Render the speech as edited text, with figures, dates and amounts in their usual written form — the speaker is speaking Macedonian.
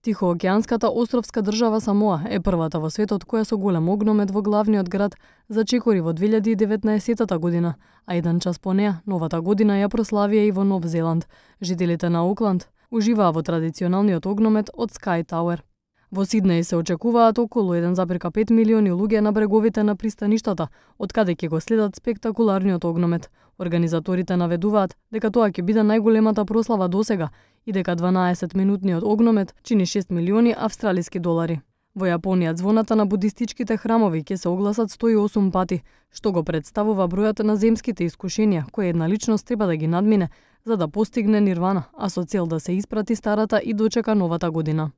Тихоокеанската островска држава Самоа е првата во светот која со голем огномет во главниот град зачекори во 2019 година, а еден час по неа, новата година ја прославија и во Нов Зеланд. Жителите на Окланд уживаа во традиционалниот огномет од Sky Tower. Во Сиднеј се очекуваат околу 1,5 милиони луѓе на бреговите на пристаништата, од каде ќе го следат спектакуларниот огномет. Организаторите наведуваат дека тоа ќе биде најголемата прослава досега и дека 12-минутниот огномет чини 6 милиони австралиски долари. Во Јапонија звоната на будистичките храмови ќе се огласат 108 пати, што го представува бројот на земските искушенија кои една личност треба да ги надмине за да постигне нирвана, а со цел да се испрати старата и дочека новата година.